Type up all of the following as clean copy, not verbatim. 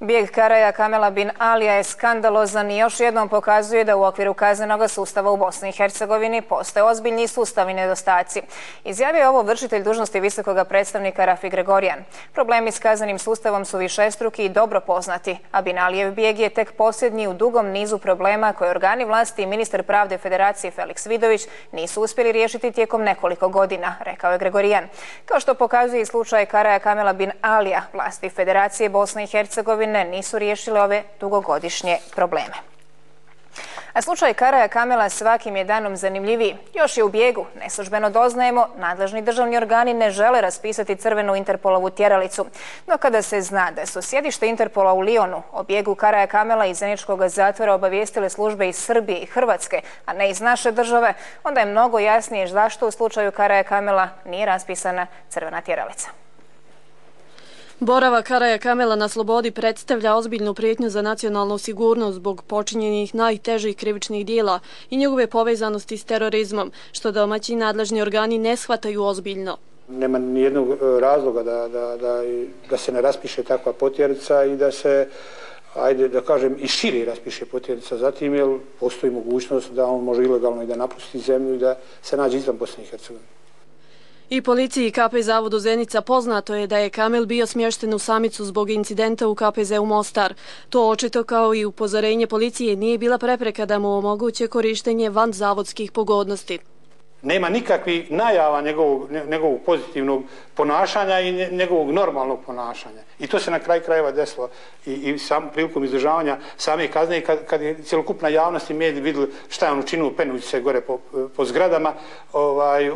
Bijeg Karaja Kamela bin Alija je skandalozan i još jednom pokazuje da u okviru kaznenog sustava u Bosni i Hercegovini postoje ozbiljni sustavni nedostaci. Izjavio je ovo vršitelj dužnosti visokog predstavnika Rafi Gregorijan. Problemi s kaznenim sustavom su višestruki i dobro poznati, a bin Alijev bijeg je tek posljednji u dugom nizu problema koje organi vlasti i ministar pravde Federacije Feliks Vidović nisu uspjeli riješiti tijekom nekoliko godina, rekao je Gregorijan. Kao što pokazuje i slučaj Karaja Kamela bin Alija, vlasti Federacije Bosne i Hercegovine nisu riješile ove dugogodišnje probleme. A slučaj Karaja Kamela svakim je danom zanimljiviji. Još je u bijegu. Neslužbeno doznajemo, nadležni državni organi ne žele raspisati crvenu Interpolovu tjeralicu. No kada se zna da su sjedište Interpola u Lionu o bijegu Karaja Kamela iz zeničkog zatvora obavijestile službe iz Srbije i Hrvatske, a ne iz naše države, onda je mnogo jasnije zašto u slučaju Karaja Kamela nije raspisana crvena tjeralica. Boravak Karaja Kamela na slobodi predstavlja ozbiljnu prijetnju za nacionalnu sigurnost zbog počinjenih najtežih krivičnih dijela i njegove povezanosti s terorizmom, što domaći nadležni organi ne shvataju ozbiljno. Nema nijednog razloga da se ne raspiše takva potjernica i da se, ajde da kažem, i šire raspiše potjernica zatim, jer postoji mogućnost da on može ilegalno i da napusti zemlju i da se nađe izvan Bosne i Hercegovine. I policiji i KP zavodu Zenica poznato je da je Kamel bio smješten u samicu zbog incidenta u KPZ-u Mostar. To očito kao i upozorenje policije nije bila prepreka da mu omoguće korištenje vanzavodskih pogodnosti. Nema nikakvih najava njegovog pozitivnog ponašanja i njegovog normalnog ponašanja. I to se na kraju krajeva desilo i sam prilikom izdržavanja same kazne kad je cjelokupna javnost i mediji vidjeli šta je on učinio penući se gore po zgradama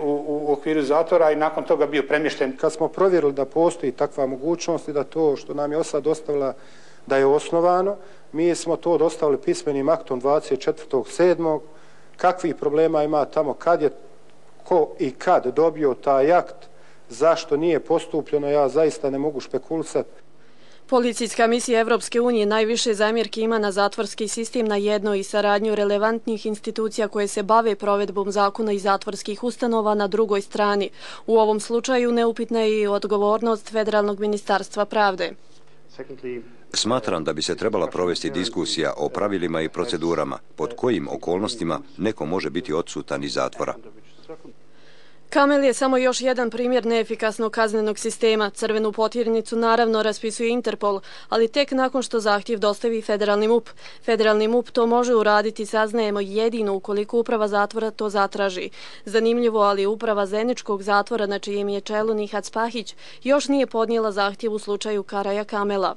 u okviru zatvora i nakon toga bio premješten. Kad smo provjerili da postoji takva mogućnost i da to što nam je OSA dostavila da je osnovano, mi smo to dostavili pismenim aktom 24.7. Kakvih problema ima tamo, kad je ko i kad dobio taj akt, zašto nije postupljeno, ja zaista ne mogu špekulisati. Policijska misija Evropske unije najviše zamjerki ima na zatvorski sistem na jednoj i saradnju relevantnih institucija koje se bave provedbom zakona i zatvorskih ustanova na drugoj strani. U ovom slučaju neupitna je i odgovornost Federalnog ministarstva pravde. Smatram da bi se trebala provesti diskusija o pravilima i procedurama pod kojim okolnostima neko može biti odsutan iz zatvora. Kamel je samo još jedan primjer neefikasnog kaznenog sistema. Crvenu potjernicu naravno raspisuje Interpol, ali tek nakon što zahtjev dostavi Federalni MUP. Federalni MUP to može uraditi, saznajemo, jedino ukoliko uprava zatvora to zatraži. Zanimljivo, ali uprava Zeničkog zatvora, na čijem je čelu Nihat Spahić, još nije podnijela zahtjev u slučaju Karaja Kamela.